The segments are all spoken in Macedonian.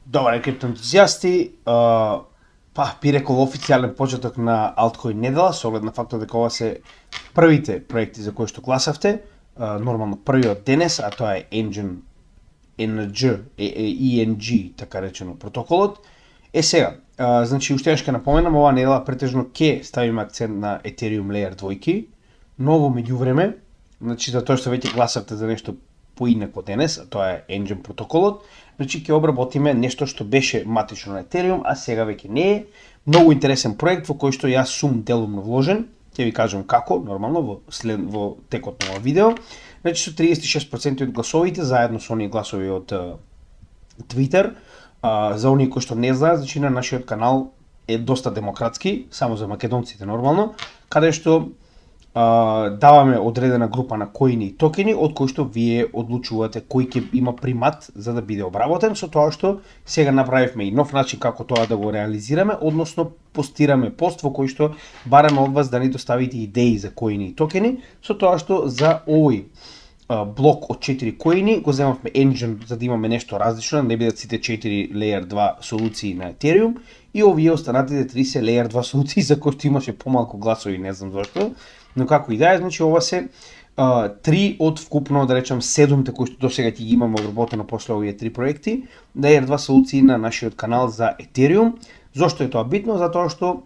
Добар крипто ентузијасти, би рекол официјален почеток на Altcoin недела, со оглед на фактот дека ова се првите проекти за кои што гласавте, нормално првиот денес, а тоа е ENG, така речено протоколот. Сега, значи уште ќе напоменам, ова недела претежно ќе ставиме акцент на Ethereum Layer 2, но во меѓувреме, значи за тоа што веќе гласавте за нешто поинеко денес, а тоа е Engine протоколот, значи ќе обработиме нешто што беше матично на Ethereum, а сега веќе не е. Многу интересен проект во кој што јас сум делумно вложен, ќе ви кажам како, нормално во текот на ова видео. Значи со 36% од гласовите, заедно со оние гласови од Twitter, за оние кои што не знаат, значи на нашиот канал е доста демократски, само за македонците нормално, каде што даваме одредена група на коини и токени, од кои што вие одлучувате кој ќе има примат за да биде обработен, со тоа што сега направивме и нов начин како тоа да го реализираме, односно постираме пост во кој што бараме од вас да ни доставите идеи за коини и токени, со тоа што за овој блок од 4 коини го земавме Engine за да имаме нешто различно, не бидат сите 4 Layer 2 солуции на Ethereum и овие останатите 3 се Layer 2 солуции за кои што имаше помалку гласови, не знам зашто. Но како и да е, значи ова се 3 од вкупно, да речем, 7-те кои што досега ќе ги имаме обработено после овие 3 проекти, Layer 2 солуции на нашиот канал за Ethereum. Зошто е тоа битно? Затоа што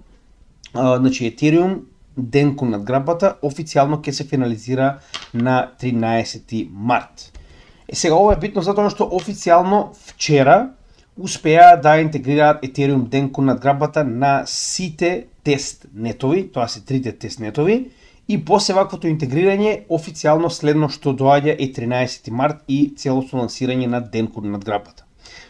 значи Ethereum денкон надграбата официјално ќе се финализира на 13 март. Сега ова е битно затоа што официјално вчера успеа да интегрираат Ethereum денкон надграбата на сите тест нетови, тоа се трите тест нетови, и после ваквото интегрирање официјално следно што доаѓа е 13 март и целосно лансирање на денкон надграбата.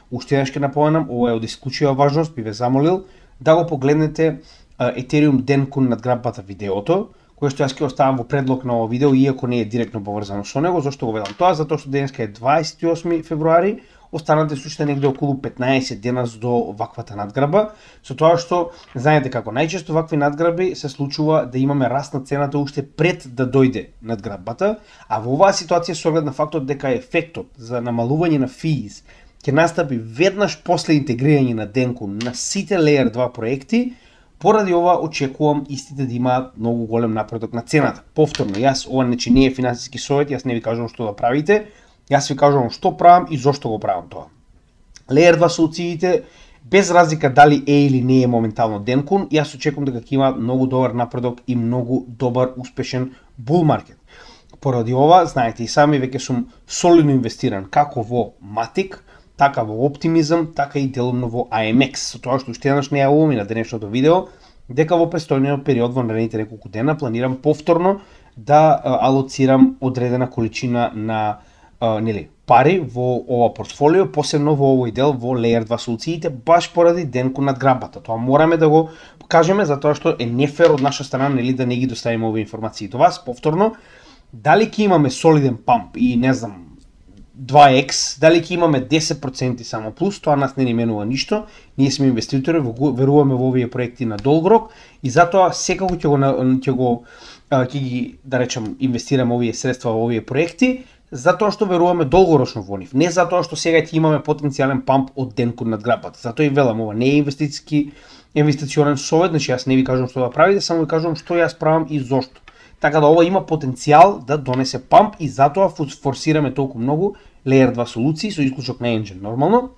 Уште еднаш ќе напоменам, ова е од исклучива важност, би ве замолил да го погледнете Ethereum денкон надграбата видеото, кое што јас ќе оставам во предлог на ова видео, иако не е директно поврзано со него. Зошто го ведам тоа? Затоа што денеска е 28 февруари, останате уште негде околу 15 дена до ваквата надграба, со тоа што знаете како најчесто вакви надграби се случува да имаме раст на цената уште пред да дојде надграбата, а во оваа ситуација со оглед на фактот дека ефектот за намалување на fees ќе настапи веднаш после интегрирање на денкон на сите Layer 2 проекти, поради ова очекувам истите да имаат многу голем напредок на цената. Повторно, јас ова не е финансиски совет, јас не ви кажувам што да правите, јас ви кажувам што правам и зошто го правам тоа. Layer 2 солуциите, без разлика дали е или не е моментално денкон, јас очекувам дека ќе има многу добар напредок и многу добар успешен bull market. Поради ова, знаете и сами, веќе сум солидно инвестиран како во Matic, така во Optimism, така и делумно во AMX, со тоа што уште еднаш не јавувам и на денешното видео, дека во престојниот период во наредните неколку дена планирам повторно да алоцирам одредена количина на пари во ова портфолио, посебно во овој дел во Layer 2 солуциите, баш поради денкон надграбата. Тоа мораме да го покажеме, затоа што е нефер од наша страна да не ги доставиме овие информации до вас. Повторно, дали ќе имаме солиден памп и не знам 2x, дали ќе имаме 10% само плюс, тоа нас не ни менува ништо. Ние сме инвеститори, веруваме во овие проекти на долг рок и затоа секако ќе ги, да речем, инвестираме овие средства во овие проекти, затоа што веруваме долгорочно во нив, не затоа што сега ќе имаме потенцијален памп од денкон надграбата. Затоа и велам, ова не е инвестиционен совет, значи јас не ви кажувам што да правите, само ви кажувам што јас правам и зошто. Така да ова има потенцијал да донесе памп и затоа форсираме толку многу Layer 2 солуции со исклучок на Engine нормално.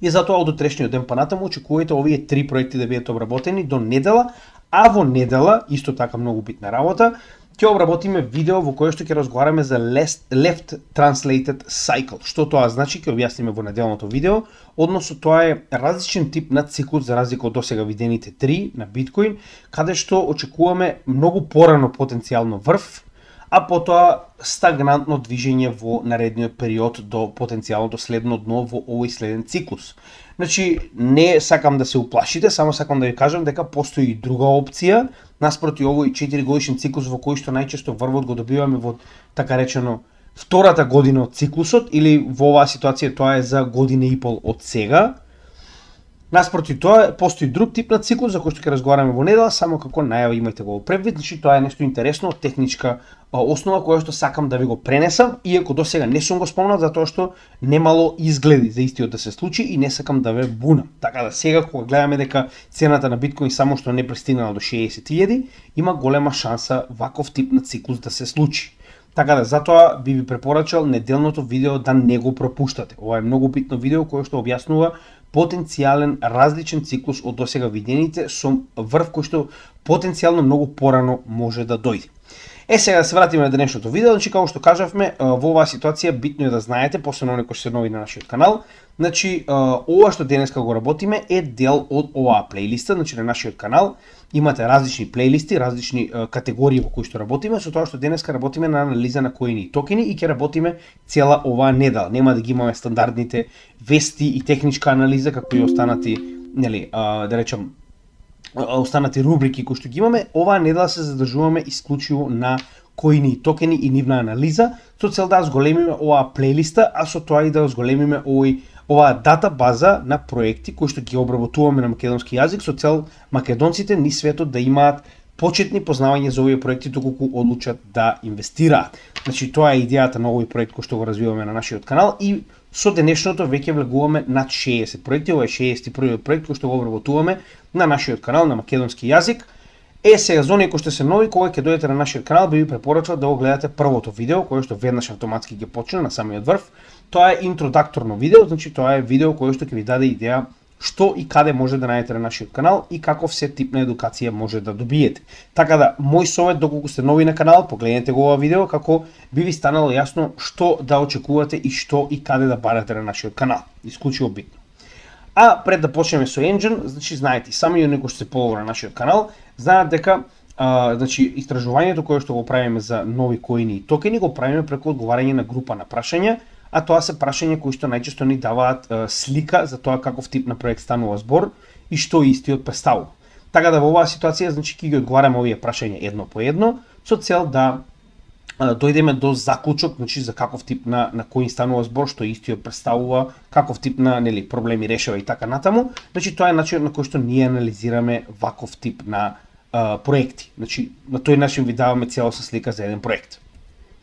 И затоа од утрешниот ден понатаму очекувајте овие 3 проекти да бидат обработени до недела, а во недела, исто така многу битна работа, ќе обработиме видео во кое што ќе разговараме за Left Translated Cycle. Што тоа значи, ќе објасниме во неделното видео, односно тоа е различен тип на циклус за разлика од досега видените 3 на биткоин, каде што очекуваме многу порано потенцијално врв, а потоа стагнантно движење во наредниот период до потенцијалното следно дно во овој следен циклус. Значи, не сакам да се уплашите, само сакам да ви кажам дека постои и друга опција, наспроти овој 4 годишен циклус во кој што најчесто врвот го добиваме во, така речено, втората година од циклусот, или во оваа ситуација тоа е за година и пол од сега. Наспроти тоа, постои друг тип на циклус за кој што ќе разговараме во недела, само како најава имајте го превид, значи тоа е нешто интересно, техничка основа која што сакам да ви го пренесам, иако досега не сум го спомнал затоа што немало изгледи за истиот да се случи и не сакам да ве бунам. Така да сега кога гледаме дека цената на биткоин само што не пристигнала до 60.000, има голема шанса ваков тип на циклус да се случи. Така да, затоа би ви препорачал неделното видео да не го пропуштате. Ова е многу битно видео кое што објаснува потенцијален различен циклус од досега видените со врв кој што потенцијално многу порано може да дојде. Сега да се вратиме на денешното видео, значи како што кажавме, во оваа ситуација битно е да знаете, посебно оние кои се нови на нашиот канал, значи ова што денеска го работиме е дел од оваа плейлиста, значи на нашиот канал имате различни плейлисти, различни категории во кои што работиме, со тоа што денеска работиме на анализа на коини и токени и ќе работиме цела оваа недела. Нема да ги имаме стандардните вести и техничка анализа како и останати, нели, да речам, останати рубрики кои што ги имаме. Оваа недела се задржуваме исклучиво на коини и токени и нивна анализа, со цел да зголемиме оваа плейлиста, а со тоа и да зголемиме оваа дата база на проекти кои што ги обработуваме на македонски јазик, со цел македонците низ светот да имаат почетни познавања за овие проекти доколку одлучат да инвестираат. Значи тоа е идејата на овој проект кој што го развиваме на нашиот канал и со денешното веќе влегуваме над 60 проекти. Ова е 61 проект кој што го обработуваме на нашиот канал на македонски јазик. Сега за оние кои што се нови, кога ќе дојдете на нашиот канал, би ви препорачал да го гледате првото видео кое што веднаш автоматски ќе почне на самиот врв. Тоа е интродакторно видео, значи тоа е видео кое што ќе ви даде идеја што и каде може да најдете на нашиот канал и каков се тип на едукација може да добиете. Така да, мој совет доколку сте нови на канал, погледнете го ова видео како би ви станало јасно што да очекувате и што и каде да барате на нашиот канал. Исклучиво битно. А пред да почнеме со Engine, значи знаете, сами оние кои што се полову на нашиот канал, знаат дека значи истражувањето кое што го правиме за нови коини и токени го правиме преку одговарање на група на прашања, а тоа се прашања кои што најчесто ни даваат слика за тоа каков тип на проект станува збор и што истиот представува. Така да во оваа ситуација значи ќе ги одговараме овие прашања едно по едно со цел да дојдеме до заклучок, значи за каков тип на коин станува збор, што истиот представува, каков тип на проблеми решава и така натаму. Значи тоа е начинот на кој што ние анализираме ваков тип на проекти. Значи на тој начин ви даваме целосна слика за еден проект.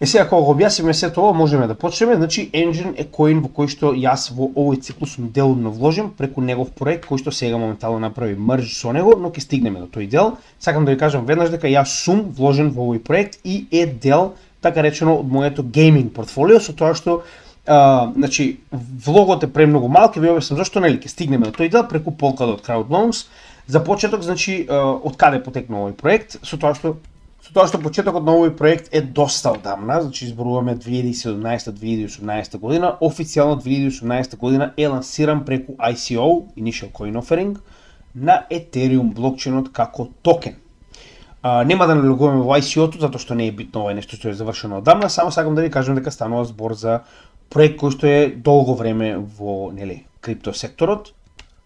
Сега кога го објасниме сето ова, можеме да почнеме. Значи Engine е коин во кој што јас во овој циклус сум делумно вложен преку негов проект кој што сега моментално направи мрж со него, но ќе стигнеме до тој дел. Сакам да ви кажам веднаш дека јас сум вложен во овој проект и е дел, така речено, од моето гейминг портфолио, со тоа што значи влогот е премногу мал, ќе ви објаснам зашто, нели, ќе стигнеме до тој дел преку Polkadot Crowd Loans. За почеток, значи, од каде потекнува овој проект, со тоа што почетокот на овој проект е доста одамна, значи изборуваме 2017-2018 година, официјално 2018 година е лансиран преку ICO, Initial Coin Offering, на Ethereum блокчейнот како токен. Нема да налегуваме во ICO-то, затоа што не е битно, ова е нешто што е завршено одамна, само сакам да ви кажам дека станува збор за проект кој што е долго време во, нели, криптосекторот,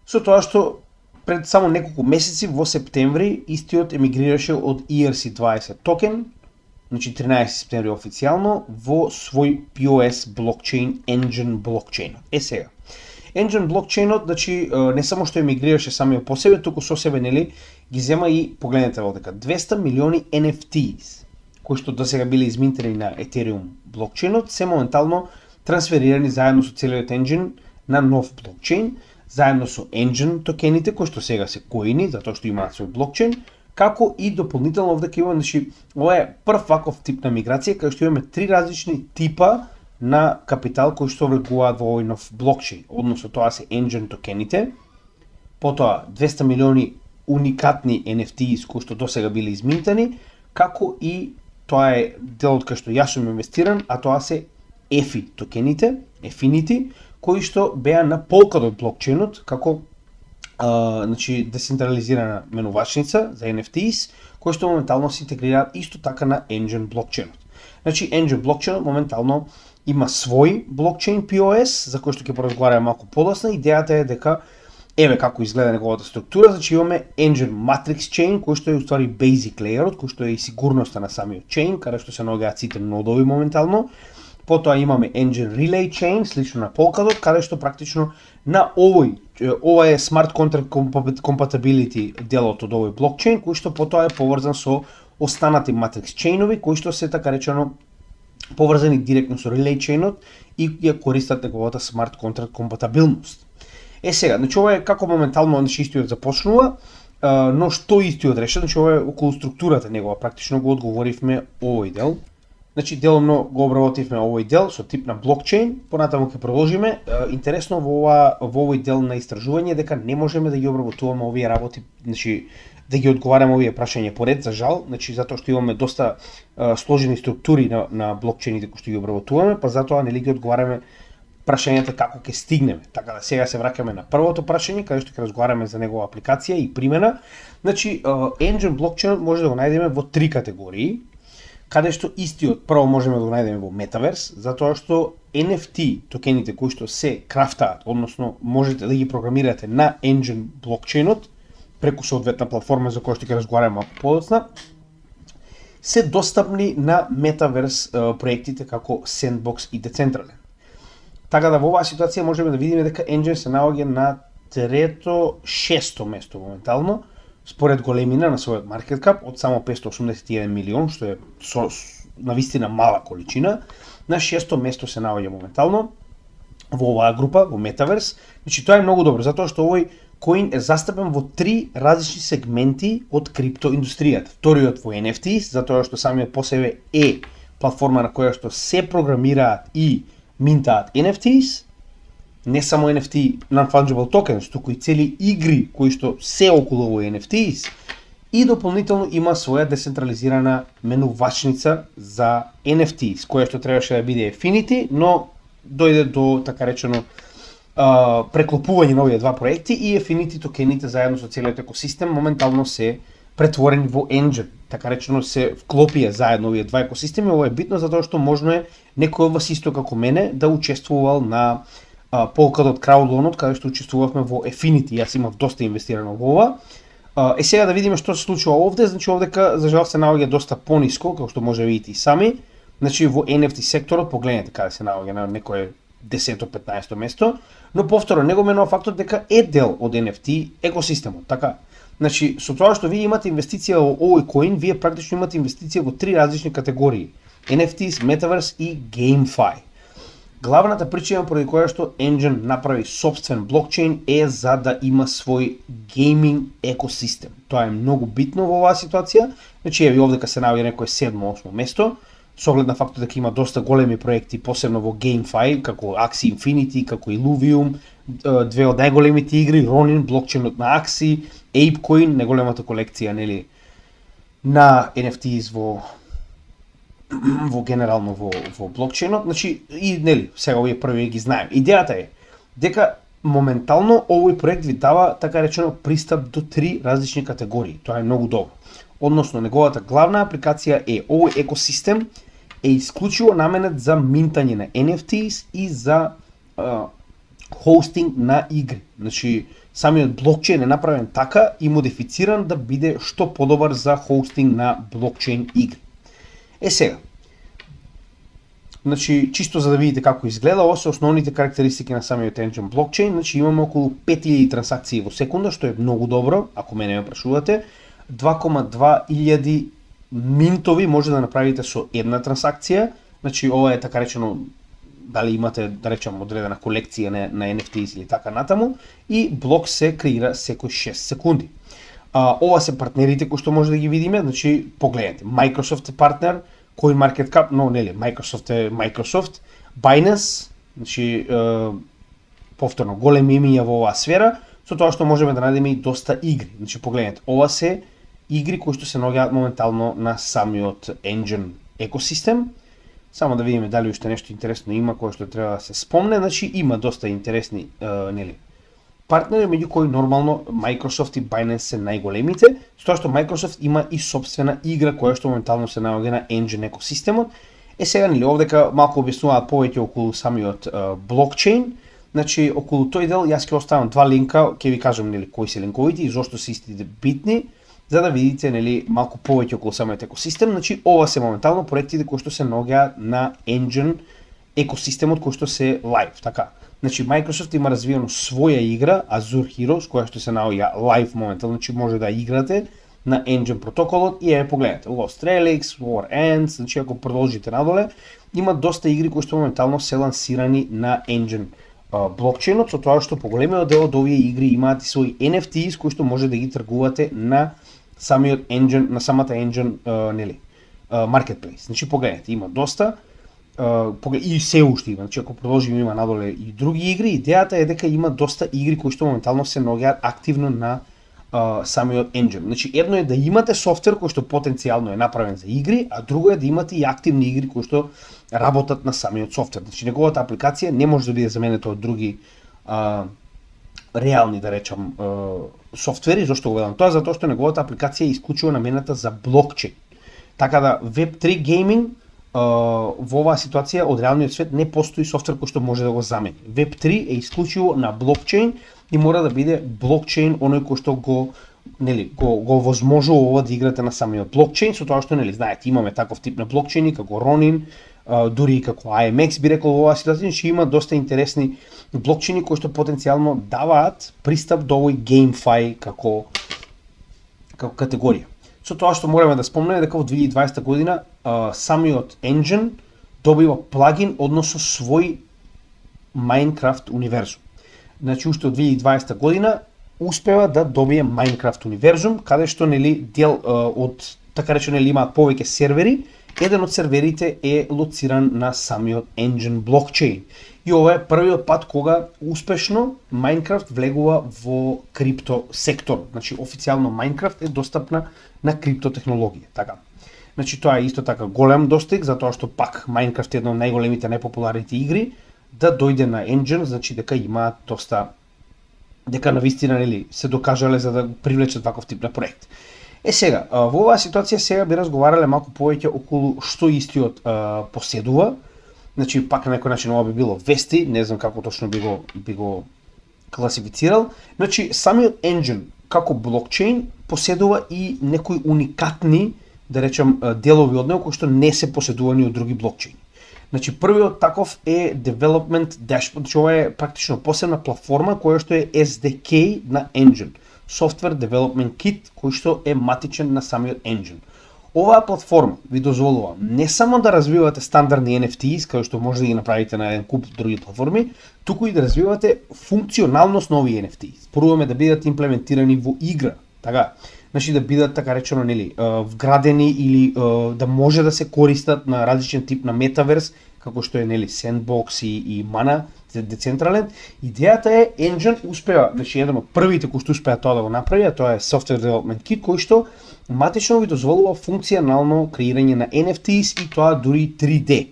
со тоа што пред само неколку месеци во септември истиот емигрираше од ERC20 токен, значи 13 септември официјално, во свој POS блокчейн Engine блокчейнот. Сега, Engine блокчейнот, значи не само што емигрираше самиот по себе, туку со себе, нели, ги зема и, погледнете во дека, 200 милиони NFTs, кои што досега биле изминтени на Ethereum блокчейнот, се моментално трансферирани заедно со целиот Engine на нов блокчейн, заедно со Engine токените, кои што сега се коини, затоа што имаат свој блокчейн, како и дополнително овде ќе имаме, значи, ова е прв ваков тип на миграција, кај што имаме три различни типа на капитал кои што влегуваат во овој нов блокчейн. Односно тоа се Engine токените, потоа 200 милиони уникатни NFTs кои што досега биле изминтани, како и тоа е делот кај што јас сум инвестиран, а тоа се EFI токените, Efinity, кои што беа на Polkadot блокчейнот како значи децентрализирана менувачница за NFTs, кои што моментално се интегрираат исто така на Engine блокчейнот. Значи Engine блокчейнот моментално има свој блокчейн POS, за кој што ќе поразговараме малку подоцна. Идејата е дека еве како изгледа неговата структура, значи имаме Engine Matrix Chain, кој што е уствари basic layer, кој што е и сигурноста на самиот chain, каде што се наоѓаат сите нодови моментално. Потоа имаме Engine Relay Chain, слично на Polkadot, каде што практично на ова е Smart Contract Compatibility делот од овој блокчейн, кој што потоа е поврзан со останати Matrix чейнови, кои што се така речено поврзани директно со Relay Chainот и ја користат неговата Smart Contract компатабилност. Сега, значи ова е како моментално истиот започнува, но што истиот реша, значи ова е околу структурата негова, практично го одговоривме овој дел. Значи деломно го обработивме овој дел со тип на блокчейн, понатаму ќе продолжиме. Интересно во овој дел на истражување дека не можеме да ги обработуваме овие работи, значи да ги одговараме овие прашања поред, за жал, значи затоа што имаме доста сложени структури на блокчейните кои што ги обработуваме, па затоа нели ги одговараме прашањата како ќе стигнеме. Така да сега се враќаме на првото прашање, каде што ќе разговараме за негова апликација и примена. Значи Engine блокчейн може да го најдеме во три категории, каде што истиот прво можеме да го најдеме во Metaverse, затоа што NFT токените кои што се крафтаат, односно можете да ги програмирате на Engine блокчейнот преку соодветна платформа за која што ќе разговараме малку подоцна, се достапни на Metaverse проектите како Sandbox и Decentraland. Така да во оваа ситуација можеме да видиме дека Engine се наоѓа на шесто место моментално, според големина на својот market cap од само 581 милион, што е навистина мала количина. На шесто место се наоѓа моментално во оваа група, во Metaverse. Значи тоа е многу добро, затоа што овој коин е застапен во три различни сегменти од криптоиндустријата. Вториот во NFTs, затоа што самиот по себе е платформа на која што се програмираат и минтаат NFTs, не само NFT non-fungible tokens, туку и цели игри кои што се околу овој NFTs, и дополнително има своја децентрализирана менувачница за NFTs, која што требаше да биде Affinity, но дојде до така речено преклопување на овие два проекти и Affinity токените заедно со целиот екосистем моментално се претворени во Engine. Така речено се вклопија заедно овие два екосистеми. Ова е битно затоа што можно е некој од вас исто како мене да учествувал на Polkadot краудлонот, каде што учествувавме во Affinity. Јас имав доста инвестирано во ова. Сега да видиме што се случува овде. Значи овдека за жал се наоѓа доста пониско, како што може да видите и сами. Значи во NFT секторот погледнете каде се наоѓа на некое 10-15 место, но повторно не го менува фактот дека е дел од NFT екосистемот, така. Значи со тоа што вие имате инвестиција во овој коин, вие практично имате инвестиција во три различни категории: NFTs, Metaverse и GameFi. Главната причина поради која што Engine направи сопствен блокчейн е за да има свој гейминг екосистем. Тоа е многу битно во оваа ситуација. Значи еве овдека се наоѓа некое 7-8 место, со оглед на фактот дека има доста големи проекти, посебно во GameFi, како Axie Infinity, како Illuvium, две од најголемите игри, Ronin, блокчейнот на Axie, ApeCoin, најголемата колекција нели на NFTs во генерално во блокчейнот. Значи и нели сега овие први ги знаеме. Идејата е дека моментално овој проект ви дава така речено пристап до три различни категории. Тоа е многу добро. Односно неговата главна апликација е овој екосистем е исклучиво наменет за минтање на NFTs и за хостинг на игри. Значи самиот блокчейн е направен така и модифициран да биде што подобар за хостинг на блокчейн игри. Сега, значи чисто за да видите како изгледа, ова се основните карактеристики на самиот Engine блокчейн. Значи имаме околу 5000 трансакции во секунда, што е многу добро, ако мене ме прашувате. 2,2 минтови може да направите со една трансакција. Значи ова е така речено дали имате да речем одредена колекција на NFTs или така натаму, и блок се креира секој 6 секунди. Ова се партнерите кои што може да ги видиме, значи погледнете, Microsoft е партнер, CoinMarketCap, но нели Microsoft е Microsoft, Binance, значи повторно големи имиња во оваа сфера, со тоа што можеме да најдеме и доста игри. Значи погледнете, ова се игри кои што се наоѓаат моментално на самиот Engine екосистем. Само да видиме дали уште нешто интересно има кое што треба да се спомне. Значи има доста интересни нели партнери, меѓу кои нормално Microsoft и Binance се најголемите, со тоа што Microsoft има и сопствена игра која што моментално се наоѓа на Engine екосистемот. Сега нели овдека малку објаснуваат повеќе околу самиот блокчейн. Значи околу тој дел јас ќе оставам два линка, ќе ви кажам нели кои се линковите и зошто се истите битни, за да видите нели малку повеќе околу самиот екосистем. Значи ова се моментално проектите кои што се наоѓаат на Engine екосистемот кој што се live, така. Значи Microsoft има развиено своја игра Azure Heroes која што се наоѓа live моментално, значи може да играте на Engine протоколот и погледнете Lost Relics, War Ends, значи ако продолжите надоле, има доста игри кои што моментално се лансирани на Engine блокчейнот, со тоа што поголемиот дел од овие игри имаат и своји NFTs кои што може да ги тргувате на самиот Engine, на самата Engine marketplace. Значи погледнете, има доста и се уште има. Значи ако продолжиме има надоле и други игри, идејата е дека има доста игри кои што моментално се наоѓаат активно на самиот Engine. Значи едно е да имате софтвер кој што потенцијално е направен за игри, а друго е да имате и активни игри кои што работат на самиот софтвер. Значи неговата апликација не може да биде заменета од други реални, да речам, софтвери. Зошто го велам тоа? Затоа што неговата апликација е исклучиво наменета за блокчейн. Така да Web3 гейминг во оваа ситуација од реалниот свет не постои софтвер кој што може да го замени. Web3 е исклучиво на блокчейн и мора да биде блокчейн оној кој што го возможува да играте на самиот блокчейн, со тоа што знаете, имаме таков тип на блокчейни како Ronin, дури и како IMX би рекол во оваа ситуација, што има доста интересни блокчейни кои што потенцијално даваат пристап до овој GameFi како категорија. Со тоа што мораме да спомнеме дека во 2020 година самиот Engine добива плагин односно свој Minecraft универзум. Значи уште од 2020 година успева да добие Minecraft универзум, каде што дел од така речено имаат повеќе сервери. Еден од серверите е лоциран на самиот Engine блокчейн. И ова е првиот пат кога успешно Minecraft влегува во крипто сектор. Значи официјално Minecraft е достапна на криптотехнологија, така. Значи тоа е исто така голем достиг, затоа што пак Minecraft е една од најголемите, најпопуларните игри, да дојде на Engine, значи дека имаат доста, дека навистина се докажале за да привлечат ваков тип на проект. Сега, во оваа ситуација сега би разговарале малку повеќе околу што истиот поседува. Значи пак на некој начин ова би било вести, не знам како точно би го класифицирал. Значи самиот Engine како блокчейн поседува и некои уникатни, да речем, делови од него кои што не се поседувани од други блокчейни. Значи првиот таков е Development Dashboard, што е практично посебна платформа која што е SDK на Engine, Software Development Kit, кој што е матичен на самиот Engine. Оваа платформа ви дозволува не само да развивате стандардни NFTs, кои што може да ги направите на еден куп други платформи, туку и да развивате функционалност на овие NFTs. Поруваме да бидат имплементирани во игра, така. Значи да бидат така речено вградени или да може да се користат на различен тип на метаверс, како што е Sandbox и Mana Decentraland. Идејата е Engine успеа, значи еден од првите кои што успеа тоа да го направи, тоа е Software Development Kit, кој што матично ви дозволува функционално креирање на NFTs и тоа дури 3D.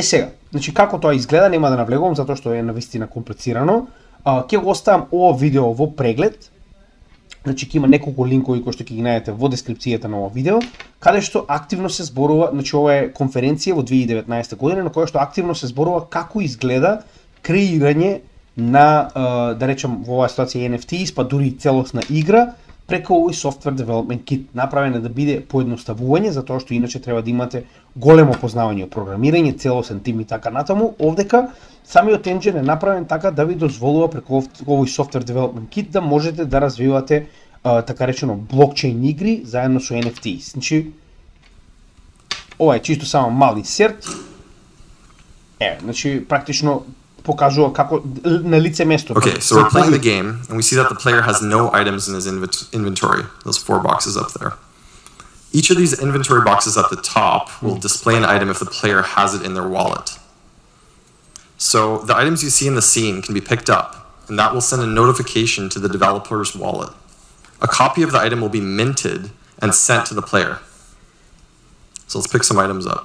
Сега, значи како тоа изгледа нема да навлегувам затоа што е навистина комплицирано. Ќе го оставам ова видео во преглед. Значи ќе има неколку линкови кои што ќе ги најдете во дескрипцијата на ова видео, каде што активно се зборува, значи ова е конференција во 2019 година на која што активно се зборува како изгледа креирање на, да речем во оваа ситуација NFTs, па дури целосна игра преку овој Software Development Kit. Направен е да биде поедноставување, затоа што иначе треба да имате големо познавање од програмирање, целосен тим и така натаму. Овдека самиот Engine е направен така да ви дозволува преку овој Software Development Kit да можете да развивате така речено блокчейн игри заедно со NFTs. Значи ова е чисто само мал инсерт. Значи практично покажува како на лице место. Okay, so we're playing the game and we see that the player has no items in his inventory. Those 4 boxes up there. Each of these inventory boxes at the top will display an item if the player has it in their wallet. So the items you see in the scene can be picked up, and that will send a notification to the developer's wallet. A copy of the item will be minted and sent to the player. So let's pick some items up.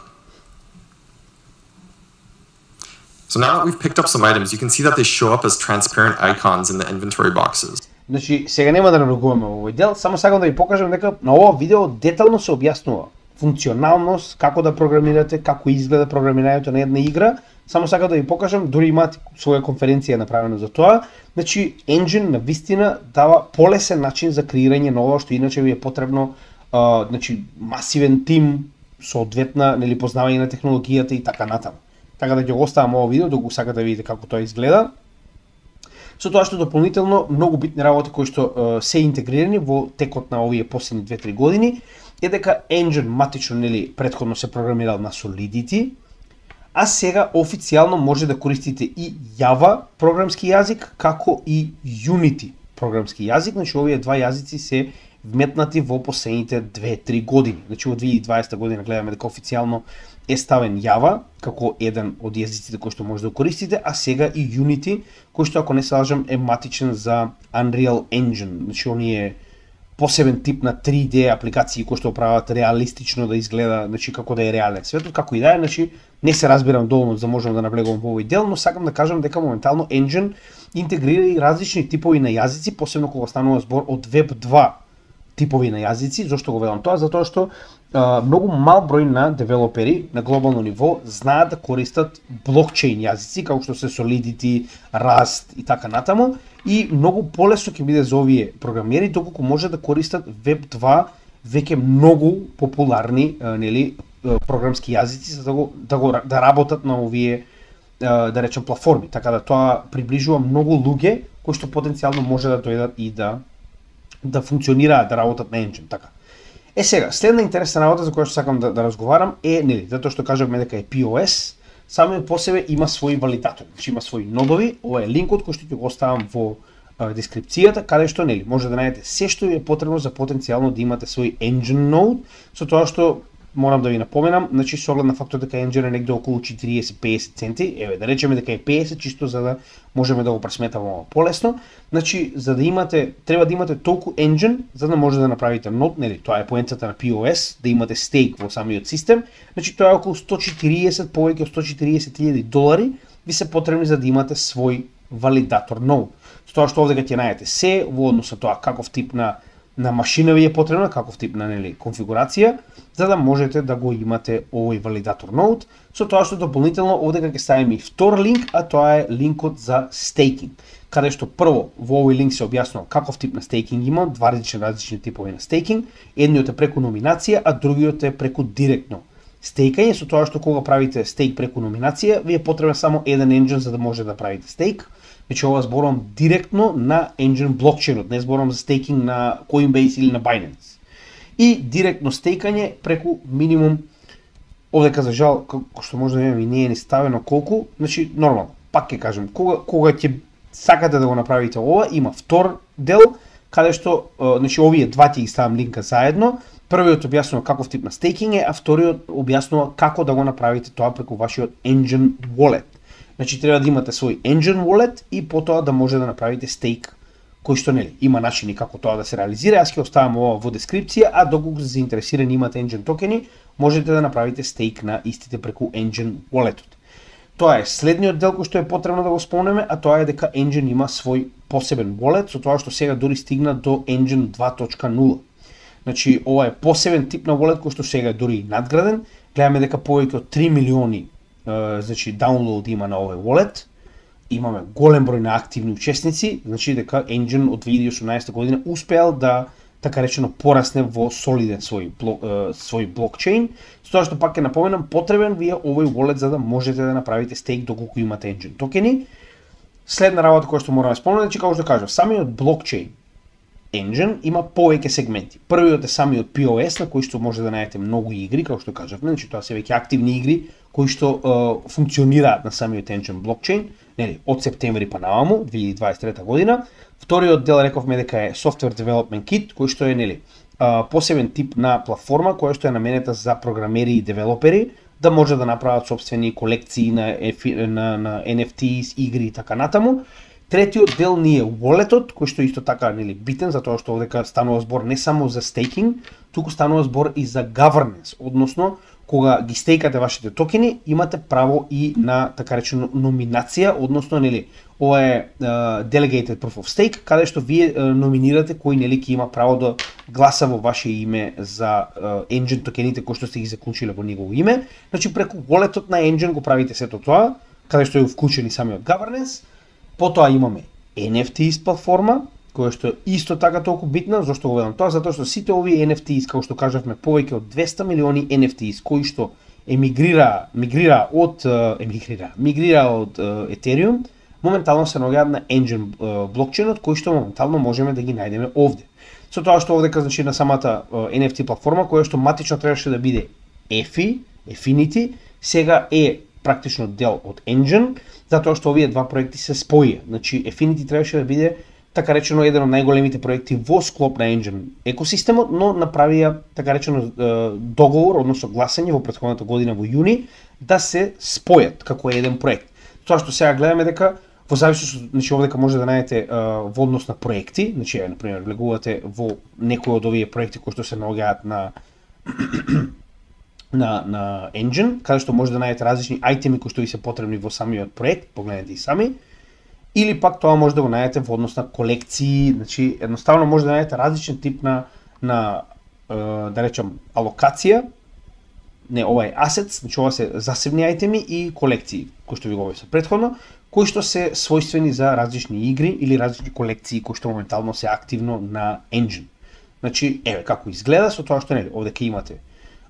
So now that we've picked up some items, you can see that they show up as transparent icons in the inventory boxes. Значи, сега нема да навлегуваме во овој дел, само сакам да ви покажам дека на ова видео детално се објаснува функционалност, како да програмирате, како изгледа програмирањето на една игра. Само сакам да ви покажам, дури имаат своја конференција направена за тоа. Значи, Engine на вистина дава полесен начин за креирање на ова што иначе ви е потребно, значи масивен тим, соодветна, познавање на технологијата и така натаму. така да ќе го оставам ова видео доколку сакате да видите како тоа изгледа. Со тоа што дополнително многу битни работи кои што се интегрирани во текот на овие последни 2-3 години е дека Engine матично претходно се програмирал на Solidity, а сега официјално може да користите и Java програмски јазик како и Unity програмски јазик. Значи овие два јазици се вметнати во последните 2-3 години. Значи во 2020 година гледаме дека официјално е ставен Java како еден од јазиците кои што може да користите, а сега и Unity, кој што ако не се лажам е матичен за Unreal Engine. Значи оние посебен тип на 3D апликации кои што прават реалистично да изгледа, значи како да е реален светот, како и да е, значи не се разбирам доволно за можам да наблегувам во овој дел, но сакам да кажам дека моментално Engine интегрира и различни типови на јазици, посебно кога станува збор од Web 2 типови на јазици. Зошто го велам тоа? Затоа што многу мал број на девелопери на глобално ниво знаат да користат блокчейн јазици, како што се Solidity, Rust и така натаму, и многу полесно ќе биде за овие програмери доколку може да користат Web 2 веќе многу популарни програмски јазици за да работат на овие да речем платформи. Така да тоа приближува многу луѓе кои што потенцијално може да дојдат и да функционираат, да работат на Engine, така. Сега, следна интересна работа за која што сакам да разговарам е, затоа што кажавме дека е POS, самиот по себе има своји валидатори, значи има своји нодови. Ова е линкот кој што ќе го оставам во дескрипцијата, каде што може да најдете се што ви е потребно за потенцијално да имате свој Engine node, со тоа што морам да ви напоменам, значи со оглед на фактот дека Engine е негде околу 40-50 центи, еве да речеме дека е 50 чисто за да можеме да го пресметаме полесно. Значи за да имате, треба да имате толку Engine за да може да направите нод, тоа е поентата на POS, да имате стейк во самиот систем. Значи тоа е околу 140, повеќе од $140,000 ви се потребни за да имате свој валидатор нод. Со тоа што овде ќе најдете се во однос на тоа каков тип на машина ви е потребна, каков тип на конфигурација, за да можете да го имате овој валидатор нод. Со тоа што дополнително овде ќе ставиме и втор линк, а тоа е линкот за стейкинг, каде што прво во овој линк се објаснува каков тип на стейкинг има, два различни типови на стейкинг, едниот е преку номинација, а другиот е преку директно стейкање. Со тоа што кога правите стейк преку номинација, ви е потребен само еден Engine за да може да правите стейк. Значи ова зборувам директно на Engine блокчейнот, не зборувам за стейкинг на Coinbase или на Binance. И директно стейкање преку минимум, овдека за жал, како што може да видиме, не е ни ставено колку, значи нормално, пак ќе кажем, кога ќе сакате да го направите ова, има втор дел, каде што, значи овие два ќе ги ставам линка заедно. Првиот објаснува каков тип на стейкинг е, а вториот објаснува како да го направите тоа преку вашиот Engine wallet. Значи треба да имате свој Engine wallet и потоа да може да направите стейк, кој што има начини како тоа да се реализира. Јас ќе оставам ова во дескрипција, а доколку се заинтересирани имате Engine токени, можете да направите стейк на истите преку Engine walletот. Тоа е следниот дел кој што е потребно да го спомнеме, а тоа е дека Engine има свој посебен wallet, со тоа што сега дури стигна до Engine 2.0. Значи ова е посебен тип на wallet кој што сега е дури надграден. Гледаме дека повеќе од 3 милиони значи даунлоуд има на овој wallet. Имаме голем број на активни учесници, значи дека Engine од 2018 година успеал да така речено порасне во солиден свој блокчейн. Со тоа што пак ќе напоменам, потребен ви е овој wallet за да можете да направите стейк доколку имате Engine токени. Следна работа која што морам да спомнам, значи како што кажав, самиот блокчейн Engine има повеќе сегменти. Првиот е самиот POS на кој што може да најдете многу игри, како што кажавме, значи тоа се веќе активни игри кои што функционираат на самиот Engine блокчейн, од септември па наваму 2023 година. Вториот дел рековме дека е Software Development Kit, кој што е посебен тип на платформа која што е наменета за програмери и девелопери да може да направат сопствени колекции на NFTs, игри и така натаму. Третиот дел ни е walletот, кој што исто така битен, затоа што овдека станува збор не само за стейкинг, туку станува збор и за governance, односно кога ги стейкате вашите токени, имате право и на така речено номинација, односно ова е delegated proof of stake, каде што вие номинирате кој ќе има право да гласа во ваше име за Engine токените кои што сте ги заклучиле во негово име. Значи преку walletот на Engine го правите сето тоа, каде што е вклучен и самиот governance. Потоа имаме NFTs платформа, која што е исто така толку битна. Зошто го велам тоа? Затоа што сите овие NFTs, како што кажавме, повеќе од 200 милиони NFTs кои што мигрира од Ethereum, моментално се наоѓаат на Engine блокчейнот, кој што моментално можеме да ги најдеме овде. Со тоа што овдека значи на самата NFT платформа, која што матично требаше да биде Affinity, сега е практично дел од Engine, затоа што овие два проекти се споија. Значи Affinity требаше да биде така речено еден од најголемите проекти во склоп на Engine екосистемот, но направија така речено договор, односно гласање во претходната година во јуни да се спојат како еден проект. Тоа што сега гледаме дека во зависност, значи овдека може да најдете во однос на проекти, значи на пример влегувате во некој од овие проекти кои што се наоѓаат на Engine, каде што може да најдете различни ајтеми кои што ви се потребни во самиот проект, погледнете и сами. Или пак тоа може да го најдете во однос на колекции, значи едноставно може да најдете различен тип на да речам алокација, не ова е assets, значи ова се засебни ајтеми и колекции, кои што ви го објаснав претходно, кои што се својствени за различни игри или различни колекции кои што моментално се активно на Engine. Значи еве како изгледа со тоа што нели овде имате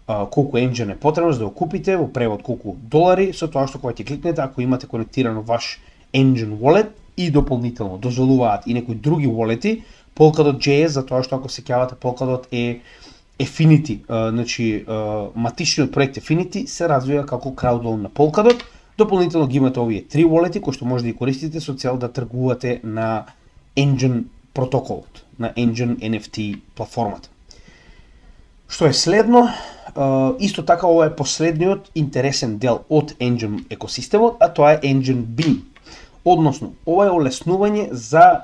колку Engine е потребно за да го купите, во превод колку долари, со тоа што кога ќе кликнете, ако имате конектирано ваш Engine Wallet и дополнително дозволуваат и некои други wallet-и, Polkadot.js, затоа што ако се сеќавате Polkadot е Affinity, значи матичниот проект Affinity се развива како crowdloan на Polkadot. Дополнително ги имате овие три wallet-и кои што може да ги користите со цел да тргувате на Engine протоколот, на Engine NFT платформата. Што е следно? Исто така ова е последниот интересен дел од Engine екосистемот, а тоа е Engine Beam. Односно, ова е олеснување за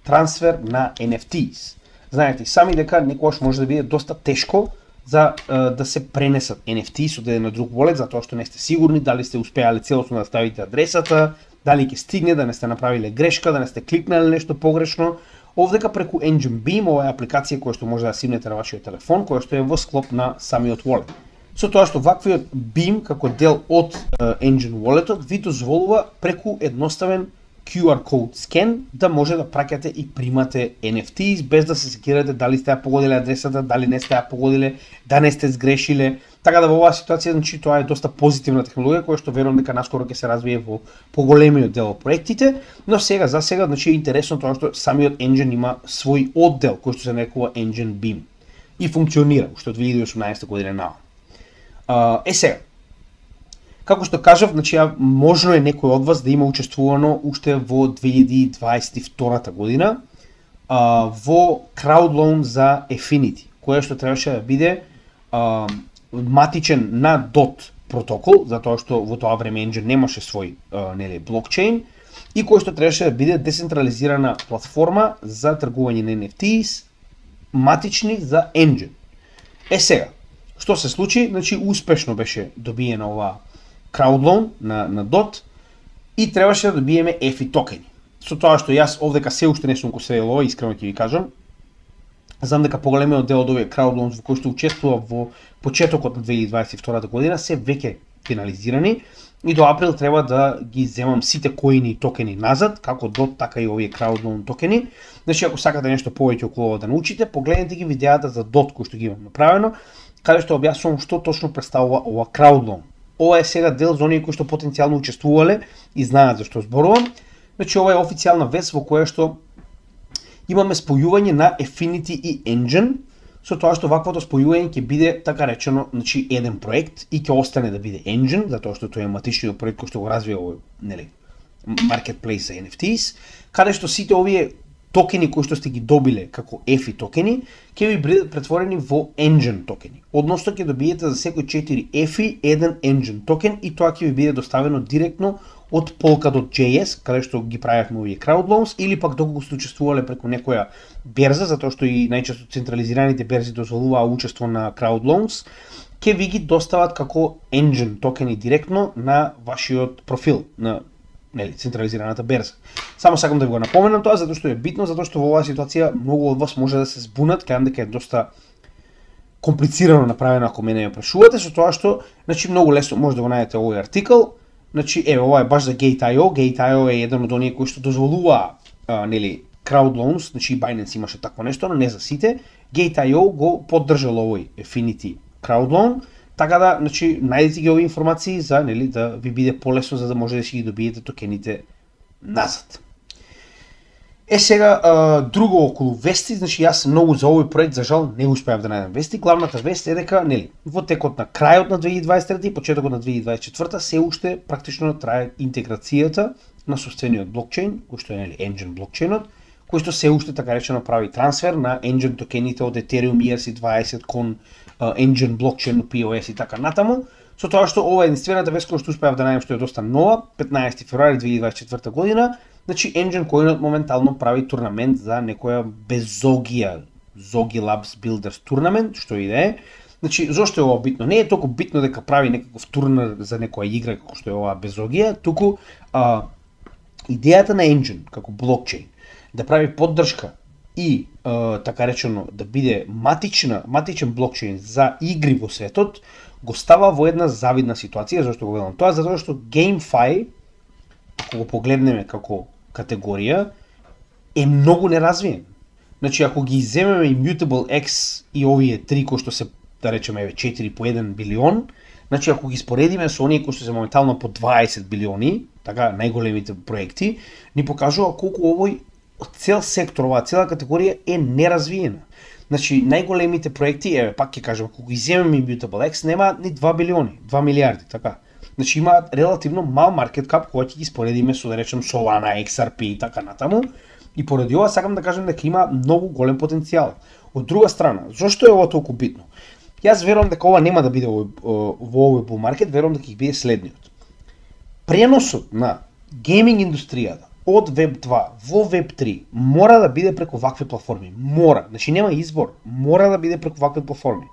трансфер на NFTs. Знаете сами дека некогаш може да биде доста тешко за да се пренесат NFTs од еден на друг wallet, затоа што не сте сигурни дали сте успеале целосно да ставите адресата, дали ќе стигне, да не сте направиле грешка, да не сте кликнале нешто погрешно. Овдека преку Engine Beam, ова е апликација која што може да симнете на вашиот телефон, која што е во склоп на самиот wallet. Со тоа што ваквиот Beam како дел од Engine Wallet-от ви дозволува преку едноставен QR код скен да може да праќате и примате NFTs без да се секирате дали сте ја погодиле адресата, дали не сте ја погодиле, да не сте сгрешиле. Така да во оваа ситуација значи тоа е доста позитивна технологија која што верувам дека наскоро ќе се развие во поголемиот дел од проектите, но сега за сега значи е интересно тоа што самиот Engine има свој оддел кој што се нарекува Engine Beam и функционира уште од 2018 година наам. Сега, како што кажав, значи можно е некој од вас да има учествувано уште во 2022 година во crowdloan за Affinity, која што требаше да биде матичен на DOT протокол, затоа што во тоа време Engine немаше свој нели блокчейн и кој што требаше да биде децентрализирана платформа за тргување на NFTs матични за Engine. Сега, што се случи? Значи успешно беше добиена оваа crowdloan на DOT и требаше да добиеме EFI токени. Со тоа што јас овдека се уште не сум го следил ова, искрено ќе ви кажам. Знам дека поголемиот дел од овие crowdloans во кои што учествува во почетокот на 2022 година се веќе финализирани и до април треба да ги земам сите коини и токени назад, како DOT, така и овие crowdloan токени. Значи ако сакате нешто повеќе околу ова да научите, погледнете ги видеата за DOT кои што ги имам направено, каде што објаснувам што точно представува ова crowdloan. Ова е сега дел за оние кои што потенцијално учествувале и знаат за што зборувам. Значи ова е официјална вест во која што имаме спојување на Affinity и Engine, со тоа што ваквото спојување ќе биде така речено, значи еден проект и ќе остане да биде Engine, затоа што тој е матичниот проект кој што го развива овој, нели, marketplace за NFTs, каде што сите овие токени кои што сте ги добиле како EFI токени, ќе ви бидат претворени во Engine токени. Односно ќе добиете за секој 4 EFI еден Engine токен и тоа ќе ви биде доставено директно од Polkadot.js, каде што ги правевме овие crowdloans, или пак доколку сте учествувале преку некоја берза, затоа што и најчесто централизираните берзи дозволуваа учество на crowdloans, ќе ви ги достават како Engine токени директно на вашиот профил на нели централизираната берза. Само сакам да ви го напоменам тоа затоа што е битно, затоа што во оваа ситуација многу од вас може да се збунат, кажам дека е доста комплицирано направено ако мене ја прашувате, со тоа што значи многу лесно може да го најдете овој артикл. Значи еве ова е баш за Gate.io. Gate.io е еден од оние кои што дозволува нели crowdloans, значи Binance имаше такво нешто, но не за сите. Gate.io го поддржал овој Affinity crowdloan, Така да, значи, најдете ги овие информации за, нели, да ви биде полесно за да може да си ги добиете токените назад. Сега, друго околу вести, значи јас многу за овој проект за жал не успеав да најдам вести. Главната вест е дека, нели, во текот на крајот на 2023 и почетокот на 2024 се уште практично трае интеграцијата на собствениот блокчейн, кој што е, нели, Enjin блокчейнот, кој што се уште така речено прави трансфер на Enjin токените од Ethereum ERC20 кон Enjin блокчейн POS и така натаму. Со тоа што ова е единствената вест која што успеав да најдам што е доста нова, 15 февруари 2024 година, значи Enjin којнот моментално прави турнамент за некоја безогија, Zogi Labs Builders турнамент, што и да е. Значи, зошто е ова битно? Не е толку битно дека прави некаков турнир за некоја игра како што е ова безогија, туку идејата на Enjin како блокчейн да прави поддршка и така речено да биде матичен блокчейн за игри во светот, го става во една завидна ситуација. Зашто го велам тоа? Затоа што GameFi, ако го погледнеме како категорија, е многу неразвиен. Значи, ако ги земеме Immutable X и овие три кои што се, да речеме, 4 по 1 билион, значи ако ги споредиме со оние кои што се моментално по 20 билиони, така најголемите проекти, ни покажува колку овој цел сектор, оваа цела категорија е неразвиена. Значи, најголемите проекти, пак ќе кажам, ако ги земеме Immutable X, нема ни 2 билиони, 2 милиарди, така. Значи, има релативно мал маркет кап кога ќе ги споредиме со, да речем, Solana, XRP и така натаму. И поради ова сакам да кажам дека има многу голем потенцијал. Од друга страна, зошто е ова толку битно? Јас верувам дека ова нема да биде во овој bull market, верувам дека ќе биде следниот. Преносот на гейминг индустријата од Web 2 во Web 3 мора да биде преку вакви платформи. Мора, значи нема избор, мора да биде преку вакви платформи.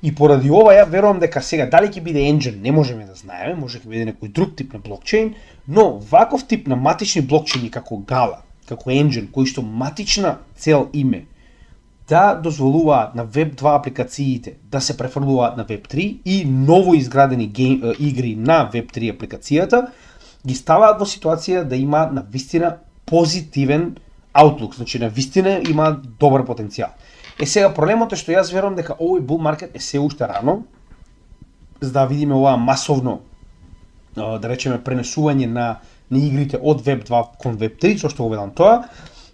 И поради ова ја верувам дека сега дали ќе биде Enjin не можеме да знаеме, може ќе биде некој друг тип на блокчейн, но ваков тип на матични блокчейни како Gala, како Enjin, кои што матична цел име да дозволуваат на Web 2 апликациите да се префрлуваат на Web 3 и ново изградени игри на Web 3 апликацијата, ги ставаат во ситуација да има навистина позитивен outlook, значи навистина има добар потенцијал. Сега проблемот е што јас верувам дека овој bull market е се уште рано, за да видиме ова масовно, да речеме, пренесување на игрите од Web 2 кон Web 3, зашто го велам тоа,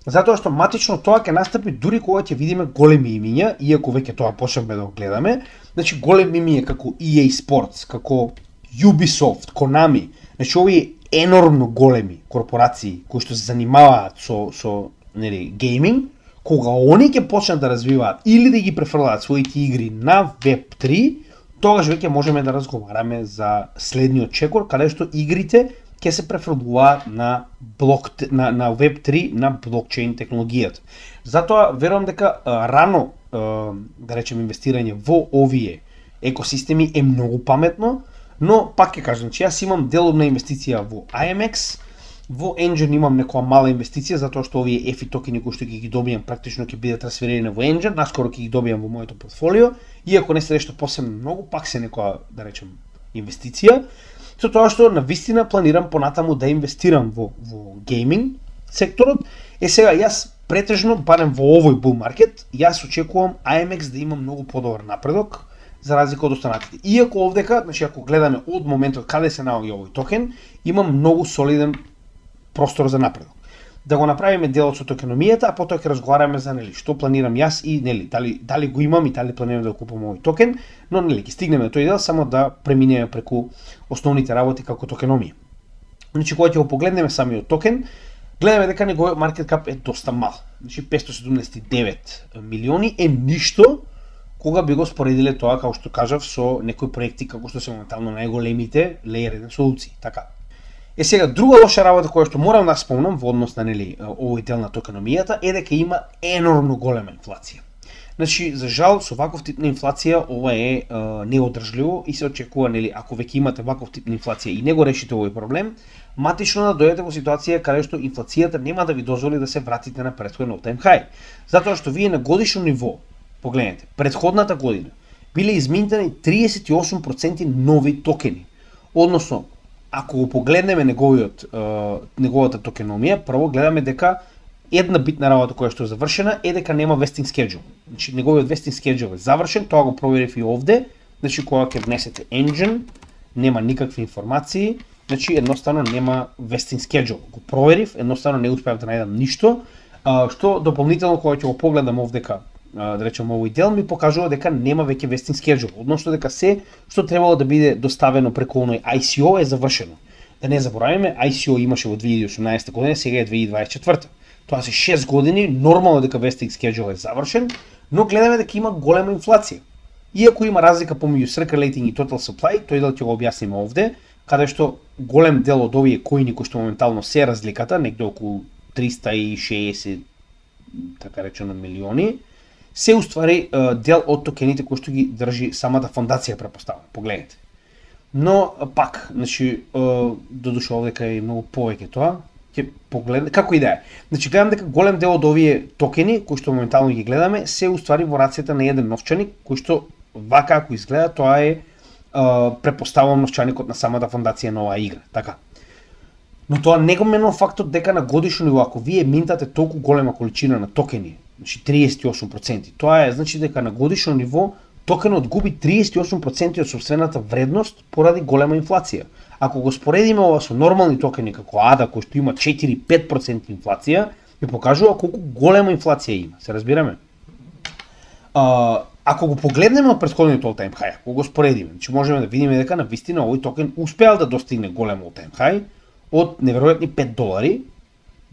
затоа што матично тоа ќе настапи дури кога ќе видиме големи имиња, иако веќе тоа почнавме да го гледаме, значи големи имиња како EA Sports, како Ubisoft, Konami, значи овие енормно големи корпорации кои што се занимаваат со нели гейминг, кога они ќе почнат да развиваат или да ги префрлаат своите игри на Web 3, тогаш веќе можеме да разговараме за следниот чекор, каде што игрите ќе се префрлуваат на Web 3 на блокчейн технологијата. Затоа верувам дека рано, да речем, инвестирање во овие екосистеми е многу паметно, но пак ќе кажам, че јас имам деловна инвестиција во IMX, во Enjin имам некоја мала инвестиција, затоа што овие EFI токени кои што ги добијам практично ќе бидат трансферирани во Enjin, наскоро ќе ги добијам во моето портфолио, иако не се нешто посебно многу, пак се некоја, да речем, инвестиција, со тоа што навистина планирам понатаму да инвестирам во гейминг секторот. Сега јас претежно, барем во овој bull market, јас очекувам IMX да има многу подобар напредок, за разлика од останатите. Иако овдека, значи ако гледаме од моментот каде се наоѓа овој токен, има многу солиден простор за напредок. Да го направиме делот со токеномијата, а потоа ќе разговараме за нели што планирам јас и нели дали го имам и дали планирам да го купам овој токен, но нели ќе стигнеме до тој дел само да преминеме преку основните работи како токеномија. Значи кога ќе го погледнеме самиот токен, гледаме дека неговиот маркет кап е доста мал. Значи 579 милиони е ништо кога би го споредиле тоа, како што кажав, со некои проекти како што се моментално најголемите Layer 1 солуции, така. Сега друга лоша работа која што морам да спомнам во однос на нели овој дел на токеномијата е дека има енормно голема инфлација. Значи, за жал, со ваков тип на инфлација ова е неодржливо и се очекува, нели, ако веќе имате ваков тип на инфлација и не го решите овој проблем, матично да дојдете во ситуација каде што инфлацијата нема да ви дозволи да се вратите на претходен all-time high. Затоа што вие на годишно ниво, погледнете, претходната година биле изминтани 38% нови токени. Односно, ако го погледнеме неговата токеномија, прво гледаме дека една битна работа која што е завршена е дека нема vesting schedule. Значи неговиот vesting schedule е завршен, тоа го проверив и овде, значи кога ќе внесете engine, нема никакви информации, значи едноставно нема vesting schedule. Го проверив, едноставно не успеав да најдам ништо, што дополнително кога ќе го погледам овдека, да речем овој дел ми покажува дека нема веќе vesting schedule, односно дека се што требало да биде доставено преку оној ICO е завршено. Да не забораваме, ICO имаше во 2018 година, сега е 2024. Тоа се 6 години, нормално дека vesting schedule е завршен, но гледаме дека има голема инфлација. Иако има разлика помеѓу circulating и total supply, тој дел ќе го објасниме овде, каде што голем дел од овие коини кои што моментално се разликата, негде околу 360 така речено милиони, се уствари дел од токените кои што ги држи самата фондација, претпоставам. Погледнете. Но пак, значи додуша овдека е многу повеќе тоа. Ќе погледне како и да е. Значи гледам дека голем дел од овие токени кои што моментално ги гледаме се уствари во рацете на еден новчаник кој што вака ако изгледа тоа е претпоставувам новчаникот на самата фондација на оваа игра, така. Но тоа не го менува фактот дека на годишно ниво ако вие минтате толку голема количина на токени, значи 38%, тоа е значи дека на годишно ниво токенот губи 38% од сопствената вредност поради голема инфлација. Ако го споредиме ова со нормални токени како ADA кој што има 4-5% инфлација, ви покажува колку голема инфлација има. Се разбираме? Ако го погледнеме од претходниот all-time high, ако го споредиме, значи можеме да видиме дека на вистина овој токен успеал да достигне голем all-time high од неверојатни $5,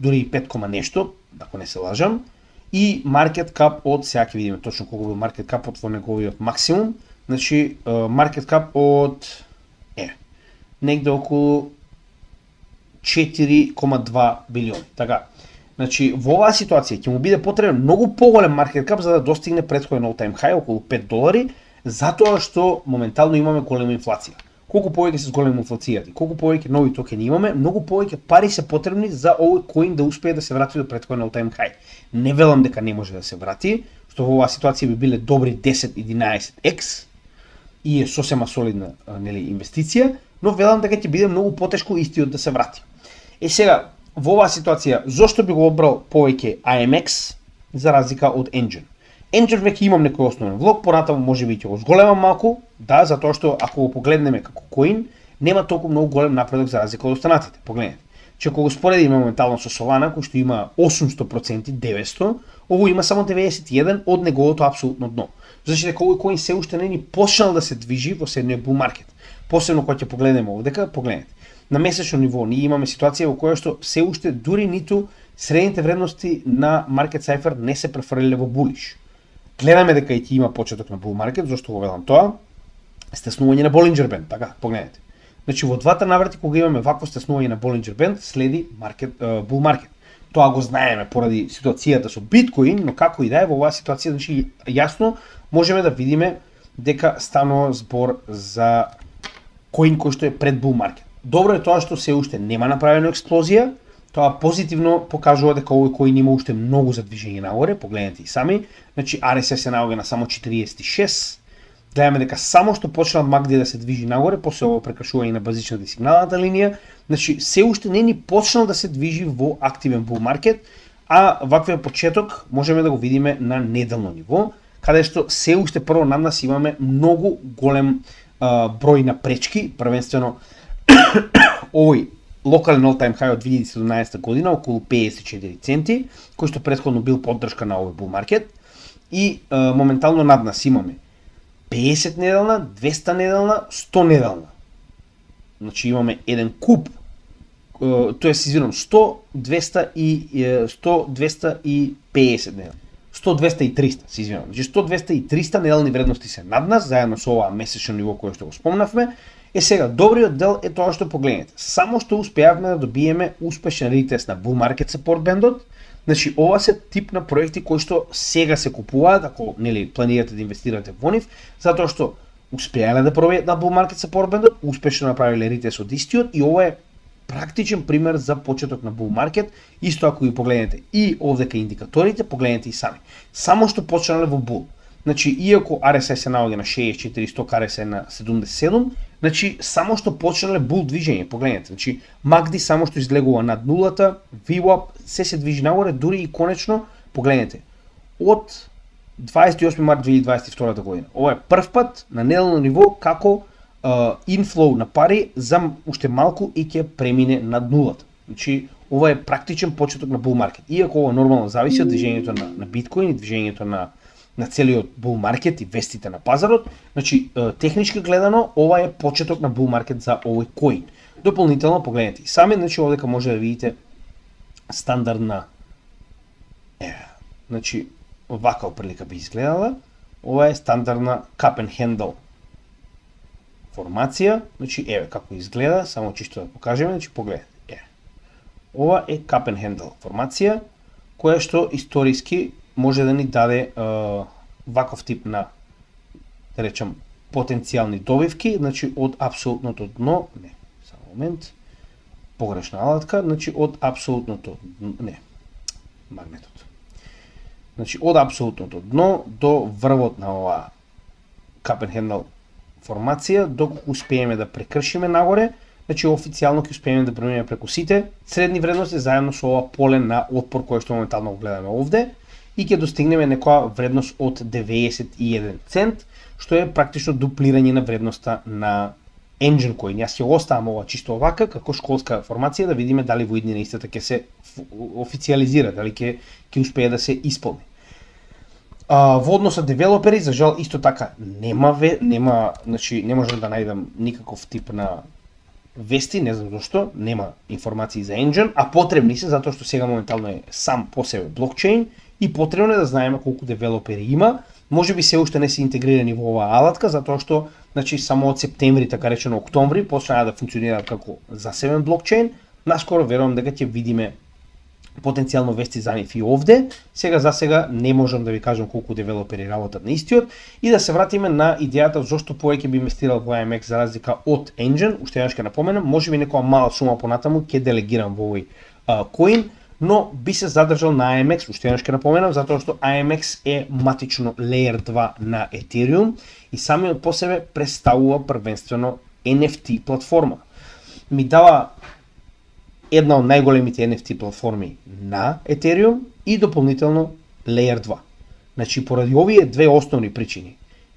дури и 5, нешто, ако не се лажам, и market cap од, сега ќе видиме точно колку бил market cap од во неговиот максимум, значи market cap од негде околу 4,2 билиони. Така. Значи, во оваа ситуација ќе му биде потребен многу поголем market cap за да достигне претходен all-time high околу $5, затоа што моментално имаме голема инфлација. Колку повеќе се зголеми инфлацијата, колку повеќе нови токени имаме, многу повеќе пари се потребни за овој коин да успее да се врати до претходен all-time high. Не велам дека не може да се врати, што во оваа ситуација би биле добри 10-11x и е сосема солидна инвестиција, но велам дека ќе биде многу потешко истиот да се врати. Сега, во оваа ситуација, зошто би го обрал повеќе AMX за разлика од Engine? Engine веќе имам некој основен влог, понатаму можеби ќе го зголемам малку, да, затоа што ако го погледнеме како коин, нема толку многу голем напредок за разлика од останатите. Погледнете. Че ако го споредиме моментално со Solana, кој што има 800%, 900, ово има само 91 од неговото апсолутно дно. Значи дека овој коин се уште не ни почнал да се движи во следниот bull market. Посебно кога ќе погледнеме овдека, погледнете. На месечно ниво ние имаме ситуација во која што се уште дури ниту средните вредности на Market Cypher не се префрлиле во булиш. Гледаме дека и ќе има почеток на bull market, зашто го велам тоа? Стеснување на Bollinger Band, така, погледнете. Значи во двата наврати кога имаме вакво стеснување на Bollinger Band, следи bull market. Тоа го знаеме поради ситуацијата со Bitcoin, но како и да е во оваа ситуација, значи јасно можеме да видиме дека станува збор за коин кој што е пред bull market. Добро е тоа што се уште нема направена експлозија, тоа позитивно покажува дека овој коин има уште многу за движење нагоре, погледнете и сами. Значи RSI се наоѓа на само 46. Гледаме дека само што почнал MACD да се движи нагоре, после ово прекршување на базичната и сигналната линија, значи се уште не ни почнал да се движи во активен bull market, а ваквиот почеток можеме да го видиме на неделно ниво, каде што се уште прво над нас имаме многу голем број на пречки, првенствено овој локален all-time high од 2017 година, околу 54 центи, кој што претходно бил поддршка на овој bull market, и моментално над нас имаме 50 неделна, 200 неделна, 100 неделна. Значи имаме еден куп, тоест извинам, 100, 200 и 100, 200 и 50 неделна. 100, 200 и 300, се извинам. Значи 100, 200 и 300 неделни вредности се над нас, заедно со оваа месечно ниво кое што го спомнавме. Сега, добриот дел е тоа што погледнете. Само што успеавме да добиеме успешен ретест на bull market support бендот. Значи, ова се тип на проекти кои што сега се купуваат, ако планирате да инвестирате во нив, затоа што успеале да пробијат на bull market support бендот, успешно направиле ретест од истиот и ова е практичен пример за почеток на bull market. Исто ако ги погледнете и овдека индикаторите, погледнете и сами. Само што почнале во bull. Значи, иако RSI се наоѓа на 64, 100 RSI на 77, значи, само што почнале bull движење, погледнете. Значи, MACD само што излегува над нулата, VWAP се движи нагоре, дури и конечно, погледнете, од 28 март 2022 година. Ова е прв пат на неделно ниво како инфлоу на пари за уште малку и ќе премине над нулата. Значи, ова е практичен почеток на bull market. Иако ова нормално зависи од движењето на биткоин и движењето на целиот bull market и вестите на пазарот, значи технички гледано ова е почеток на bull market за овој коин. Дополнително погледнете и сами, значи овдека може да видите стандардна значи вака оприлика би изгледала. Ова е стандардна cup and handle формација, значи еве како изгледа, само чисто да покажеме, значи погледнете. Ова е cup and handle формација која што историски може да ни даде ваков тип на, да речам, потенцијални добивки, значи од апсолутното дно, не, само момент, погрешна алатка, значи од апсолутното, не, магнетот. Значи од апсолутното дно до врвот на ова cup and handle формација, доколку успееме да прекршиме нагоре, значи официјално ќе успееме да преминеме преку сите средни вредности заедно со ова поле на отпор кој што моментално го гледаме овде и ќе достигнеме некоја вредност од 91 цент, што е практично дуплирање на вредноста на Engine Coin. Јас ќе оставам ова чисто овака како школска формација да видиме дали во иднина истата ќе се официјализира, дали ќе успее да се исполни. Во однос на девелопери, за жал исто така нема, значи не можам да најдам никаков тип на вести, не знам зашто, нема информации за Engine, а потребни се затоа што сега моментално е сам по себе блокчейн и потребно е да знаеме колку девелопери има. Може би се уште не се интегрирани во оваа алатка, затоа што значи само од септември, така речено октомври, почнаа да функционираат како засебен блокчейн. Наскоро верувам дека ќе видиме потенцијално вести за нив и овде. Сега не можам да ви кажам колку девелопери работат на истиот и да се вратиме на идејата зошто повеќе би инвестирал во AMX за разлика од Engine. Уште еднаш ќе напоменам, можеби некоја мала сума понатаму ќе делегирам во овој коин, но би се задржал на AMX, уште еднаш ќе напоменам, затоа што AMX е матично Layer 2 на Ethereum и самиот по себе представува првенствено NFT платформа. Ми дава една од најголемите NFT платформи на Ethereum и дополнително Layer 2. Значи, поради овие две основни причини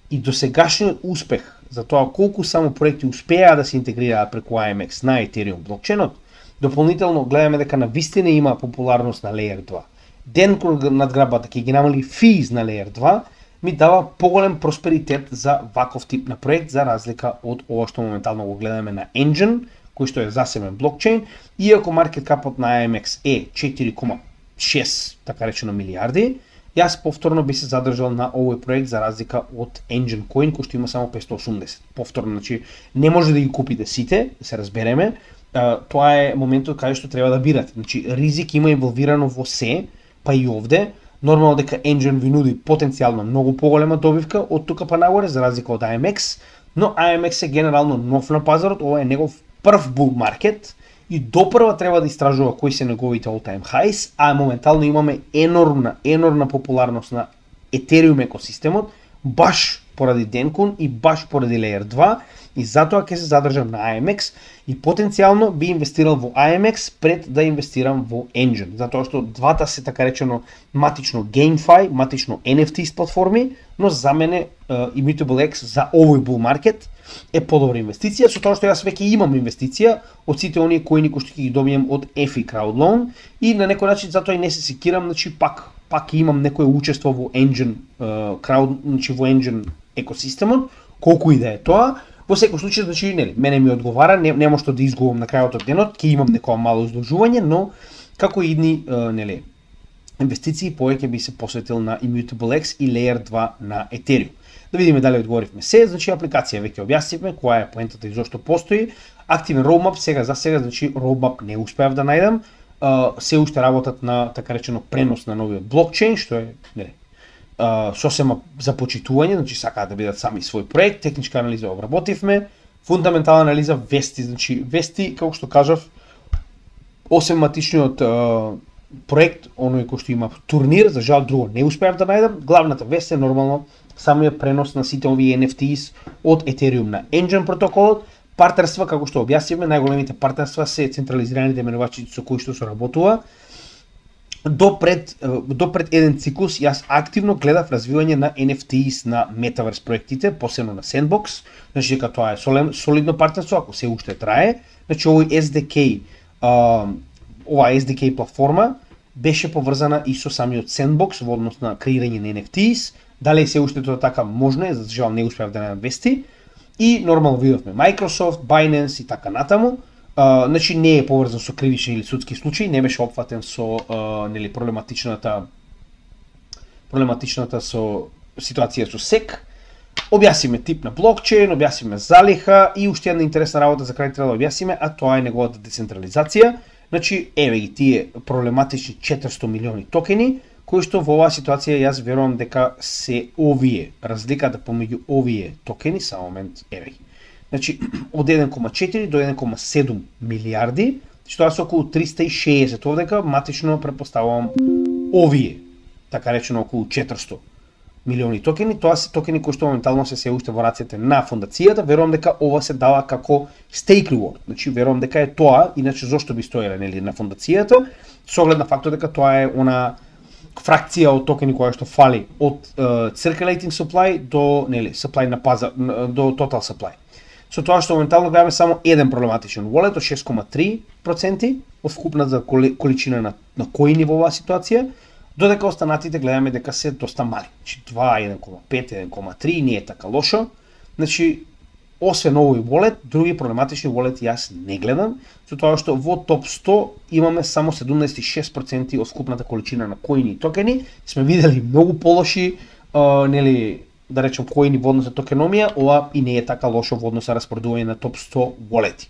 и досегашниот успех за тоа колку само проекти успеа да се интегрираат преку AMX на Ethereum блокчейнот, дополнително гледаме дека на вистина има популарност на Layer 2. Ден кога надграбата ќе ги намали физ на Layer 2, ми дава поголем просперитет за ваков тип на проект за разлика од ова што моментално го гледаме на Engine, кој што е засебен блокчейн, иако маркет капот на AMX е 4,6 така речено милиарди, јас повторно би се задржал на овој проект за разлика од Engine Coin кој што има само 580. Повторно, значи не може да ги купите сите, да се разбереме. Тоа е моментот каде што треба да бирате. Значи ризик има инволвирано во се, па и овде. Нормално дека Engine ви нуди потенцијално многу поголема добивка од тука па нагоре за разлика од AMX, но AMX е генерално нов на пазарот, ова е негов прв bull market и допрва треба да истражува кои се неговите all-time highs, а моментално имаме енормна популарност на Ethereum екосистемот, баш поради Dencun и баш поради Layer 2 и затоа ќе се задржам на AMX и потенцијално би инвестирал во AMX пред да инвестирам во Engine, затоа што двата се така речено матично GameFi, матично NFT платформи, но за мене Immutable X за овој bull market е подобра инвестиција, со тоа што јас веќе имам инвестиција од сите оние коини кои што ќе ги добием од EFI Crowd Loan и на некој начин затоа и не се секирам, значи пак имам некое учество во Engine значи во Engine екосистемот, колку и да е тоа. Во секој случај, значи, нели, мене ми одговара, нема што да изгубам на крајот од денот, ќе имам некоја мало изложување, но како идни, нели, инвестиции повеќе би се посветил на Immutable X и Layer 2 на Ethereum. Да видиме дали одговоривме се, значи апликација веќе објаснивме која е поентата и зошто постои. Активен roadmap сега, значи roadmap не успеав да најдам. Се уште работат на така речено пренос на новиот блокчейн, што е, нели, сосема за почитување, значи сакаат да бидат сами свој проект, техничка анализа обработивме, фундаментална анализа, вести, значи вести, како што кажав, осем матичниот проект, оној кој што има турнир, за жал друго не успеав да најдам, главната вест е нормално самиот пренос на сите овие NFTs од Ethereum на Engine протоколот, партнерства, како што објаснивме, најголемите партнерства се централизираните менувачи со кои што се работува, до пред еден циклус јас активно гледав развивање на NFTs на Metaverse проектите, посебно на Sandbox, значи дека тоа е солидно партнерство, ако се уште трае. Значи овој SDK, оваа SDK платформа беше поврзана и со самиот Sandbox во однос на креирање на NFTs. Дали се уште тоа така можно е, за жал не успеав да најдам вести. И нормално видовме Microsoft, Binance и така натаму. Значи не е поврзан со кривични или судски случаи, не беше опфатен со нели проблематичната со ситуација со SEC. Објасниме тип на блокчейн, објасниме залиха и уште една интересна работа за крај треба да објасниме, а тоа е неговата децентрализација. Значи еве ги тие проблематични 400 милиони токени, кои што во оваа ситуација јас верувам дека се овие, разликата помеѓу овие токени, само момент, еве ги. Значи, од 1,4 до 1,7 милиарди, што е околу 360 овдека, матично препоставувам овие, така речено околу 400 милиони токени. Тоа се токени кои што моментално се уште во рацете на фондацијата. Верувам дека ова се дава како stake reward. Значи, верувам дека е тоа, иначе зошто би стоеле нели на фондацијата, со оглед на фактот дека тоа е она фракција од токени која што фали од circulating supply до нели supply на пазар, до total supply. Со тоа што моментално гледаме само еден проблематичен wallet од 6,3% од вкупната количина на коини во оваа ситуација, додека останатите гледаме дека се доста мали. Значи 2, 1,5, 1,3 не е така лошо. Значи освен овој wallet, други проблематични wallet јас не гледам, со тоа што во топ 100 имаме само 76% од вкупната количина на коини и токени. Сме видели многу полоши нели да речем коини во однос на токеномија, ова и не е така лошо во однос на распоредување на топ 100 wallet.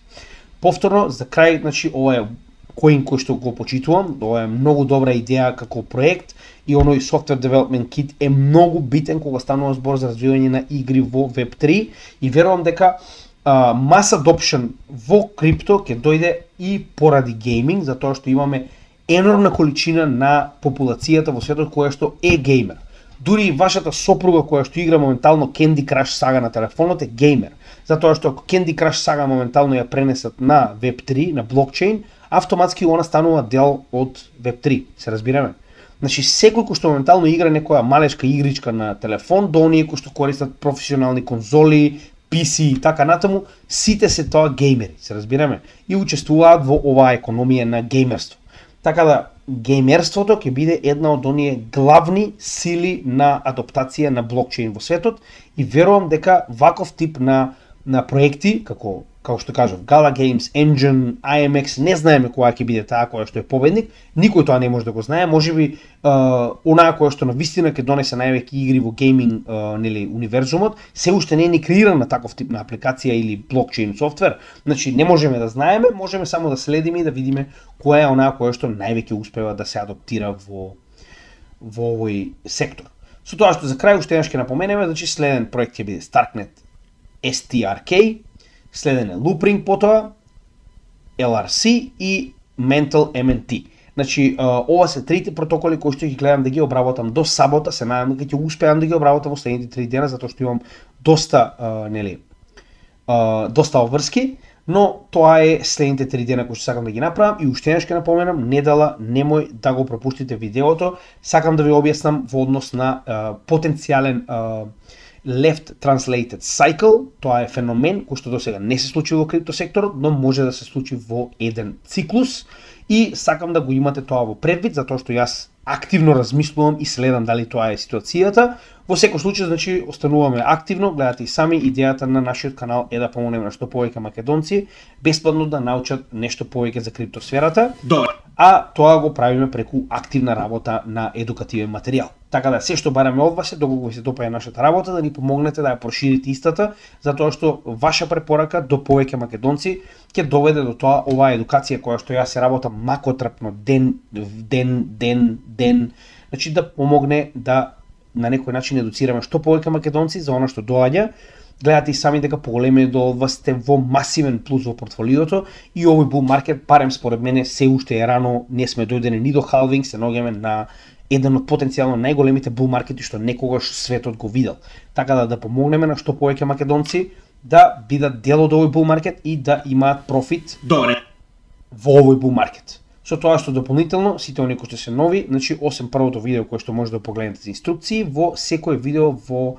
Повторно за крај, значи ова е коин кој што го почитувам, ова е многу добра идеја како проект и оној software development kit е многу битен кога станува збор за развивање на игри во Web3 и верувам дека mass adoption во крипто ќе дојде и поради гейминг, затоа што имаме енормна количина на популацијата во светот која што е геймер. Дури вашата сопруга која што игра моментално Candy Crush Saga на телефонот е геймер, затоа што ако Candy Crush Saga моментално ја пренесат на Web3, на блокчейн, автоматски она станува дел од Web3, се разбираме. Значи секој кој што моментално игра некоја малешка игричка на телефон, до оние кои што користат професионални конзоли, PC и така натаму, сите се тоа геймери, се разбираме, и учествуваат во оваа економија на геймерство. Така да, геймерството ќе биде една од оние главни сили на адаптација на блокчейн во светот и верувам дека ваков тип на проекти, како што кажав, Gala Games, Engine, IMX, не знаеме која ќе биде таа која што е победник, никој тоа не може да го знае, можеби онаа која што навистина ќе донесе највеќе игри во гейминг нели универзумот, се уште не е ни креирана таков тип на апликација или блокчейн софтвер. Значи не можеме да знаеме, можеме само да следиме и да видиме која е онаа која што највеќе успева да се адаптира во овој сектор. Со тоа што за крај уште еднаш ќе напоменеме, значи следен проект ќе биде Starknet STRK, следен е Loopring потоа, LRC и Mental MNT. Значи, ова се трите протоколи кои што ги гледам да ги обработам до сабота, се надам дека ќе успеам да ги обработам во следните 3 дена, затоа што имам доста обврски, но тоа е следните 3 дена кои што сакам да ги направам и уште еднаш ќе напоменам, недела немој да го пропуштите видеото, сакам да ви објаснам во однос на потенцијален Left Translated Cycle, тоа е феномен кој што досега не се случи во криптосекторот, но може да се случи во еден циклус и сакам да го имате тоа во предвид, затоа што јас активно размислувам и следам дали тоа е ситуацијата. Во секој случај, значи, остануваме активно, гледате и сами, идејата на нашиот канал е да помогнеме на што повеќе македонци бесплатно да научат нешто повеќе за криптосферата. Добро. А тоа го правиме преку активна работа на едукативен материјал. Така да се што бараме од вас е доколку ви се допаѓа нашата работа да ни помогнете да ја проширите истата, затоа што ваша препорака до повеќе македонци ќе доведе до тоа оваа едукација која што јас се работам макотрпно ден, значи да помогне да на некој начин едуцираме што повеќе македонци за она што доаѓа. Гледате и сами дека поголемиот дел од вас сте во масивен плюс во портфолиото и овој bull market, барем според мене, се уште е рано, не сме дојдени ни до халвинг, се наоѓаме на еден од потенцијално најголемите bull маркети што некогаш светот го видел. Така да помогнеме на што повеќе македонци да бидат дел од овој bull market и да имаат профит во овој bull market. Со тоа што дополнително, сите оние кои што се нови, значи освен првото видео кое што може да погледнете за инструкции, во секое видео во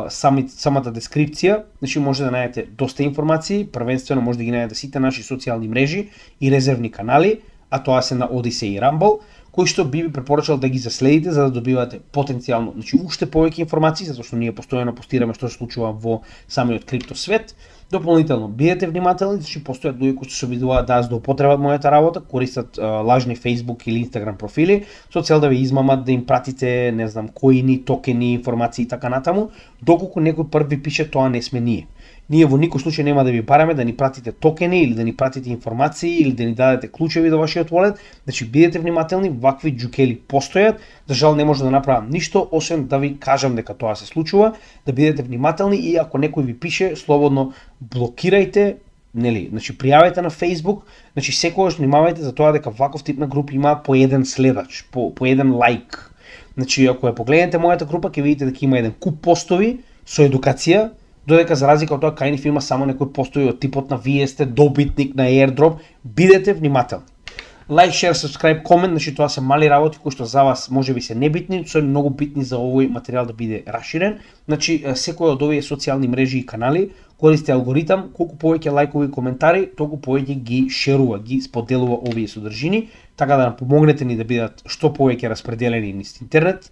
самата дескрипција, значи може да најдете доста информации, првенствено може да ги најдете сите наши социјални мрежи и резервни канали, а тоа се на Odyssey и Rumble, кои што би препорачал да ги заследите за да добивате потенцијално, значи уште повеќе информации, затоа што ние постојано постираме што се случува во самиот крипто свет. Дополнително, бидете внимателни, значи постојат луѓе кои се обидуваат да злоупотребат мојата работа, користат лажни Facebook или Instagram профили со цел да ви измамат, да им пратите, не знам, коини, токени, информации и така натаму, доколку некој прв ви пише тоа не сме ние. Ние во никој случај нема да ви бараме да ни пратите токени или да ни пратите информации или да ни дадете клучеви до вашиот wallet, значи бидете внимателни, вакви џукели постојат, за жал не може да направам ништо освен да ви кажам дека тоа се случува, да бидете внимателни и ако некој ви пише, слободно блокирајте, нели, значи пријавете на Facebook, значи секогаш внимавајте за тоа дека ваков тип на групи има по еден следач, по еден лайк. Значи ако ја погледнете мојата група, ќе видите дека има еден куп постови со едукација, додека за разлика од тоа кај нив има само некои постои од типот на вие сте добитник на airdrop, бидете внимателни. Like, share, subscribe, comment, значи тоа се мали работи кои што за вас можеби се небитни, се многу битни за овој материјал да биде расширен. Значи секој од овие социјални мрежи и канали користи алгоритам, колку повеќе лајкови и коментари, толку повеќе ги шерува, ги споделува овие содржини, така да нам помогнете ни да бидат што повеќе распределени низ интернет.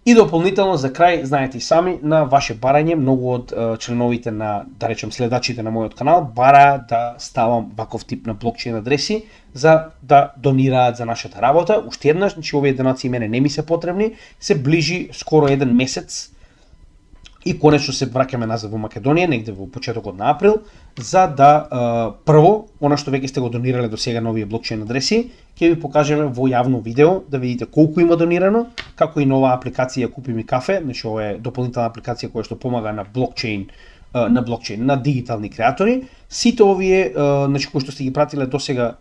И дополнително за крај, знаете и сами, на ваше барање, многу од членовите на, да речем, следачите на мојот канал, бара да ставам ваков тип на блокчейн адреси за да донираат за нашата работа. Уште еднаш, значи овие донации мене не ми се потребни, се ближи скоро еден месец и конечно се враќаме назад во Македонија, негде во почетокот на април, за да прво, она што веќе сте го донирале до сега на овие блокчейн адреси, ќе ви покажеме во јавно видео да видите колку има донирано, како и нова апликација Купи ми кафе, значи ова е дополнителна апликација која што помага на блокчейн, на дигитални креатори. Сите овие, значи кои што сте ги пратиле до сега,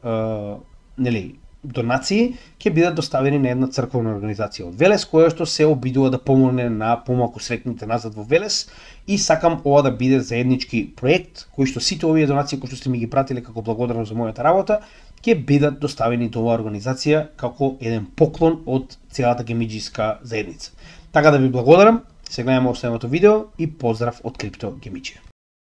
нели, донации ќе бидат доставени на една црковна организација од Велес, која што се обидува да помогне на помалку сретните назад во Велес, и сакам ова да биде заеднички проект кој што сите овие донации кои што сте ми ги пратиле како благодарност за мојата работа ќе бидат доставени до оваа организација како еден поклон од целата гемиџиска заедница. Така да ви благодарам, се гледаме во следното видео и поздрав од Крипто Гемиџија.